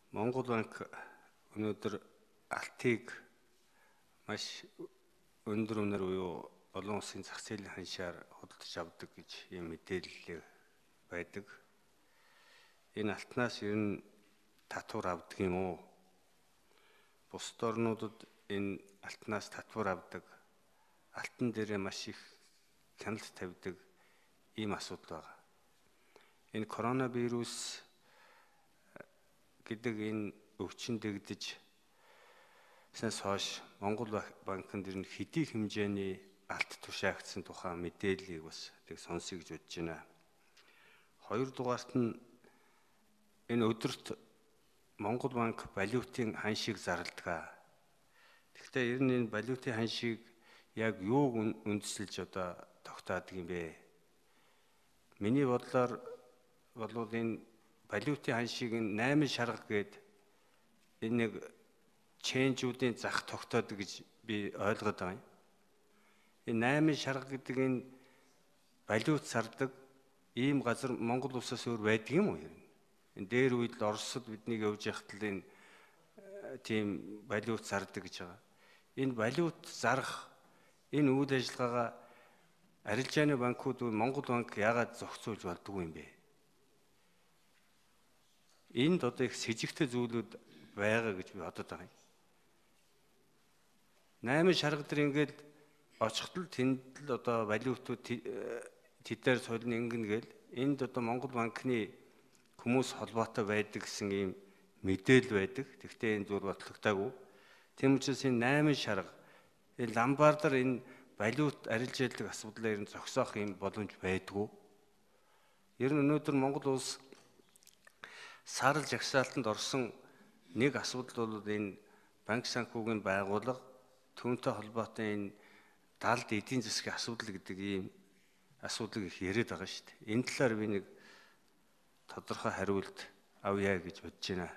Монгол банк өнөөдөр алтыг маш өндөр үнээр буюу олон улсын зах зээлийн ханшаар худалдаж авдаг гэж ийм мэдээлэл байдаг. Энэ алтнаас ер нь татвар авдаг юм уу? Бусад орнуудад энэ алтнаас татвар авдаг, алтан дээрээ маш их хяналт тавьдаг ийм асуудал байна. Энэ коронавирус гэдэг энэ өвчин дэгдэж сэнс хойш Монгол банкнд ер нь хэдий хэмжээний алт тушаагдсан тухай мэдээллийг бас тэг сонсъё гэж бодож байна. Хоёрдугаарт нь энэ өдөрт Монгол банк валютын ханшийг зарладаг. Тэгэхдээ ер нь энэ валютын ханшийг яг юуг үндэслэж одоо тогтоодог юм бэ? Миний бодлоор бол энэ валютын ханшийг 8 шарга гээд энэ нэг ченжүүдийн зах тогтоодог гэж би ойлгоод байгаа юм. Энэ 8 шарга гэдэг энэ валют зардаг ийм газар Монгол улсаас өөр байдаг юм уу? Энэ дээр үед л Оросд биднийг явж яхад л энэ тийм валют зардаг гэж байгаа. Энэ валют зарах энэ үйл ажиллагаагаа арилжааны банкуд Монгол банк яагаад зохицуулж болдгоо юм бэ? Энд одоо их с ิจ гтэй зүйлүүд байгаа гэж би бодод байгаа юм. 8 шарга дээр ингээд очихтол тэнд л одоо валютууд тэдээр солино ингэн гээл энд одоо Монгол банкны хүмүүс холбоотой байдаг гэсэн ийм мэдээлэл байдаг. Тэгвэл энэ зүйл батлагдаагүй. Тийм учраас энэ 8 шарга энэ ламбардар энэ валют арилжаалдаг асуудлаа ер нь зогсоох юм боломж байдгүй. Ер нь өнөөдөр Монгол улс саарл жагсаалтанд орсон нэг асуудал бол энэ банк санхүүгийн байгууллага түүнтэй холбоотой энэ далд эдийн засгийн асуудал гэдэг ийм асуудлыг их яриад байгаа шүү дээ. Энэ талаар би нэг тодорхой хариулт авъя гэж бодож байна.